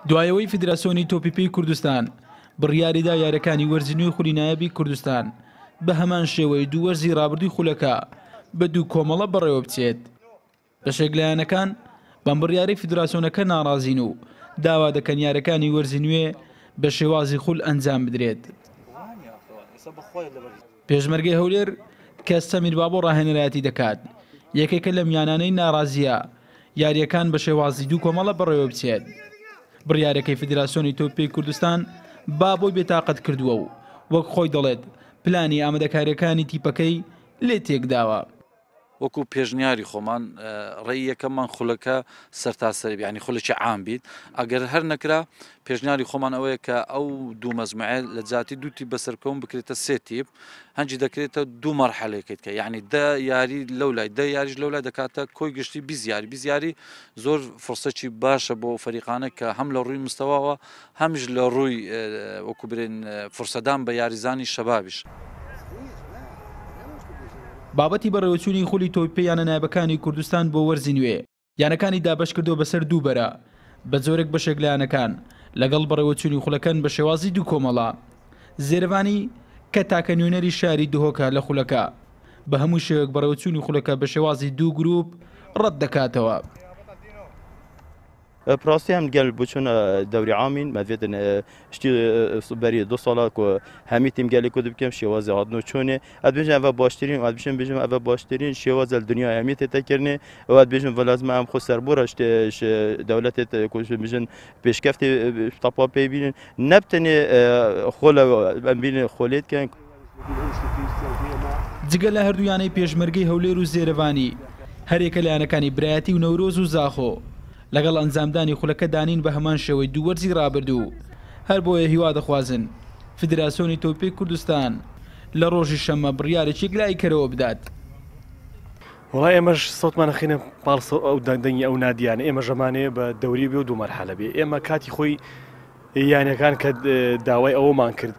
دوای ئەوەی فیدراسیۆنی تۆپی پێی کوردستان بڕیاریدا یاریەکانی وەرزی نوێی خولی نایابی کوردستان بە هەمان شێوەی دوو وەرزی رابردووی خولەکە بە دوو کۆمەڵە بەڕێوەبچێت، بەشێک لە یانەکان بەم بڕیارەی فیدراسیۆنەکە ناڕازین و داوا دەکەن یاریەکانی وەرزی نوێ بە شێوازی خول ئەنجام بدرێت. پێشمەرگەی هەولێر کە سەمیر بابۆ ڕاهێنەرایەتی دەکات، یەکێکە لەم یانانەی ناڕازییە یارییەکان بە شێوازی دوو کۆمەڵە بەڕێوەبچێت. بڕیارەکەی فیدراسیۆنی تۆپی پێی کوردستان بابۆی بێتاقەت کردووە و وەک خۆی دەڵێت پلانی ئامادەکارییەکانی تیپەکەی لێ تێکداوە. وەکو پێشنیاری خۆمان ڕێی یەکەممان خولەکە سەرتاسەری بێ یانی خولێکی عام بیت ئەگەر هەر نەکرا پێشنیاری خۆمان ئەوەیە کە ئەو دوو مەجموعە لە جیاتی دوو تیپ بەسەرکەون بکرێتە سێ تیپ هەنجی دەکرێتە دوو مەرحەلەیەکەیت کە یعنی دە یاری لەو لای دە یاریش لەو لای دەکاتە کۆی گشتی 20 یاری 20 یاری زۆر فرسەکی باشە بۆ فەریقانە کە هەم لە ڕووی مستەواوە هەمیش لە ڕووی وەکو برێن فرسەدان بە یاریزانی شەبابیش. بابەتی بەڕێوەچوونی خولی تۆپی پێی یانە نایابەکانی کوردستان بۆ وەرزی نوێ، یانەکانی دابەشکردووە بەسەر دوو بەرە، بە جۆرێک بەشێک لە یانەکان لەگەڵ بەڕێوەچوونی خولەکەن بە شێوازی دوو کۆمەڵە. زێرەڤانی کە تاکە نوێنەری شاری دهۆکە لە خولەکە، بە هەموو شێوەیەک بەڕێوەچوونی خولەکە بە شێوازی دوو گروپ ڕەتدەکاتەوە. پراستی هم گەل بچون دەوری عامین مەڤێتن شتی بەری دو ساڵە کو هەمی تیم گەلی کو دبکەم شێوازی هاتن و چۆنێ ئەد بێژم ئەڤ باشترین ئەد بشم بێژم ئەڤ باشترین شێوازە لە دنیای هەمی تێتەکردنێ و ئەد بێژم ڤە لازمە ئەم خو سەربۆرە دەولەتێت کو بژن پێشکەفتی تەپا پێ بینن نەبتنێ خۆلە ئەم بینن خۆلێت کەن. جگە لە هەردوو یانەی پێشمەرگەی هەولێر و زێرەڤانی، هەریەکە لە یانەکانی برایەتی و نەورۆز و زاخۆ لەگەڵ ئەنجامدانی خولەکە دانین بە هەمان شێوەی دوو وەرزی رابردوو، هەربۆیە هیوا دەخوازن فیدراسیۆنی تۆپی کوردستان لە رۆژی شەممە بڕیارێکی یەکلاییکەرەوە بدات. وەڵا ئێمەش سەوتمان ئەخەینە پاڵ ئەو دەنگی ئەو نادیانە، ئێمەش ئەمانەوێ بە دەوری بێ و دوو مەرحەلە بێ، ئێمە کاتی خۆی یانەکان کە داوای ئەوەمان کرد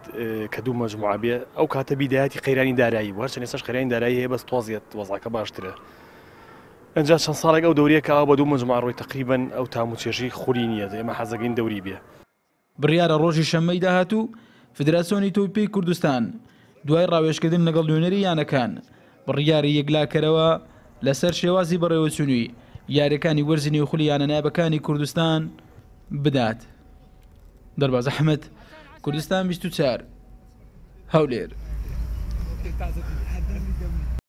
کە دوو مەجموعە بێ ئەو کاتە بیدایەتی قەیرانی دارایی بوو هەرچەند ئێستاش قەیرانی دارایی هەیە بەس تۆزیەت وەزعەکە باشترە ئەنجا چەند ساڵێک ئەو دەوریە کە ئاوا بە دوو مەجموعە ڕۆی تەقریبەن ئەو تام و چێژی خولی نییە ئێمە حەزەکەین دەوری بێ. بڕیارە ڕۆژی شەممەی داهاتوو فیدراسیۆنی تۆپی پێی کوردستان دوای ڕاوێژکردن لەگەڵ نوێنەری یانەکان بڕیاری یەکلاکەرەوە لەسەر شێوازی بەڕێوەچوونی یارییەکانی وەرزی نوێی خولی یانە نایابەکانی کوردستان بدات. دەرباز ئەحمەد، کوردستان 24، هەولێر.